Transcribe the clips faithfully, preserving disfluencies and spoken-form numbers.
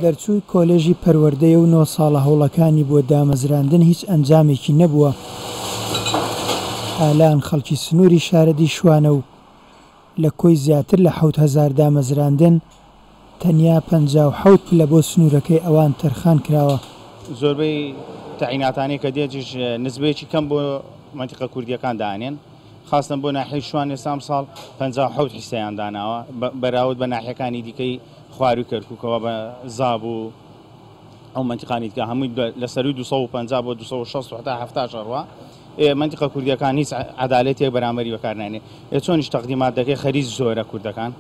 دەرچووی کۆلێژی پەروەردەیە و نۆ ساڵە هەوڵەکانی بۆ دامەزراندن هیچ ئەنجامێکی نەبووە. ئالان خەڵکی سنووری شارەدێی شوانە و لە کۆی زیاتر لە حەوت هەزار دامەزراندن تەنیا پەنجا و حەوت پلە بۆ سنوورەکەی ئەوان تەرخان کراوە. زۆربەی تەعیناتانەی کە دێتیش نسبەیەکی کەم بۆ مەنتیقە کوردییەکان دانێن، خاستن بۆ ناحیەی شوان ئێستا ئەمساڵ پەنجا و حەوت حیسەیان داناوە بەراورد بە ناحیەکانی دیکەی خواروی کەرکووکەوە بە زاب و ئەو مەنتیقانی دیکە هەمووی لە سەروی دوو سەد و پەنجا بۆ دوو سەد و شەست و هەتا حەفتا ئەڕوا. مەنتیقە کوردیەکان هیچ عەدالەتێک بەرامبەری بەکارنانێ. چۆنیش تەقدیمات دەکەی خەریج زۆرە کوردەکان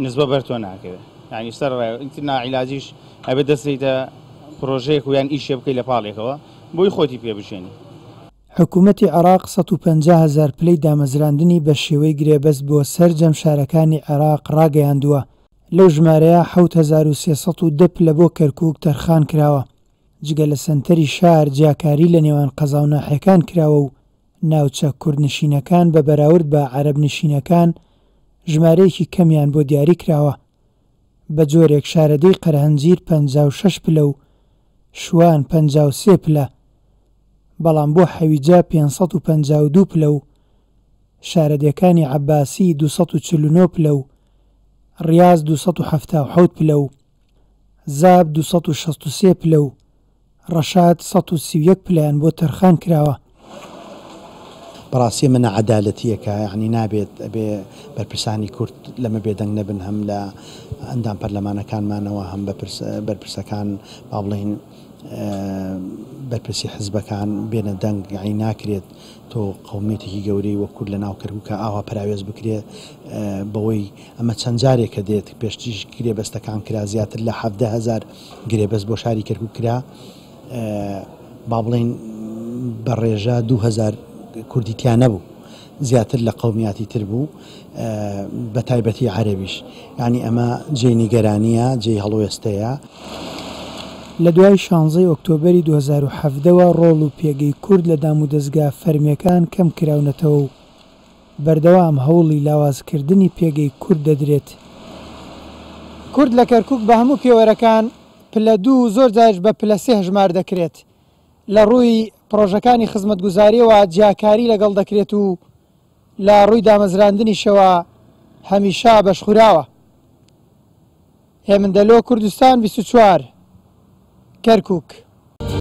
نسبە بەر تۆ ناکەوێت، یعنی سەر ڕای ناعیلاجیش ئەبێت دەستیتە پرۆژەیەک و یان ئیشێ بکەی لە پاڵێکەوە بۆی خۆتی پێ بژێنی. حکوومەتی عێراق سەد و پەنجا هەزار پلەی دامەزراندنی بە شێوەی گرێبەست بۆ سەرجەم شارەکانی عێراق ڕاگەیاندووە. لەو ژمارەیە حەوت هەزار و سێ سەد و دە پلە بۆ کەرکووک تەرخان کراوە. جگە لە سەنتەری شار جیاکاری لە نێوان قەزا و ناحیەکان کراوە و ناوچە کوردنشینەکان بە بەراورد بە عەرەبنشینەکان ژمارەیەکی کەمیان بۆ دیاری کراوە. بە جۆرێک شارەدێی قەرهەنجیر پەنجا و شەش پلە و شوان پەنجا و سێ پلە، بەڵام بۆ حەویجە پێنج سەد و پەنجا و دوو پلە و شارەدێکانی عەباسی دوو سەد و چل و نۆ پلە و ڕیاز دوو سەد و حەفتا و حەوت پلە و زاب دوو سەد و شەست و سێ پلە و ڕەشاد سەد و سی و یەک پلەیان بۆ تەرخان کراوە. بەڕاستی ئەمە نەعەدالەتیەکە، یعنی نابێت ئەبێ بەرپرسانی کورد لەمە بێدەنگ نەبن، هەم لە ئەندام پەرلەمانەکانمانەوە هەم بەرپرسەکان با بڵێین بەرپرسی حزبەکان بێنە دەنگ. یعنی ناکرێت تۆ قەومیەتێکی گەورەی وەک کورد لە ناو کەرکووکە ئاوا پەراوێز بکرێت بەوەی ئەمە چەند جارێکە دێت. پێشتریش گرێبەستەکان کرا، زیاتر لە حەفدە هەزار گرێبەست بۆ شاری کەرکووک کرا، با بڵێین بە ڕێژە دوو هەزار کوردی تیا نەبوو، زیاتر لە قەومیاتی تر بوو، بە تایبەتی عەرەبیش. یعنی ئەمە جێی نیگەرانیە، جێی هەڵوێستەیە. لە دوای شانزەی ئۆکتۆبەری دوو هەزار و حەڤدەوە ڕۆڵ و پێگەی کورد لە دامودەزگا فەرمیەکان کەم کراونەتەوە و بەردەوام هەوڵی لاوازکردنی پێگەی کورد دەدرێت. کورد لە کەرکووک بە هەموو پێوەرەکان پلە دوو زۆر جاریش بە پلە سێ هەژمار دەکرێت. لە ڕووی پرۆژەکانی خزمەتگوزاریەوە جیاکاری لەگەڵ دەکرێت و لە ڕووی دامەزراندنیشەوە هەمیشە بەشخوراوە. هێمن دەلۆ، کوردستان بیست و چوار، کەرکووک.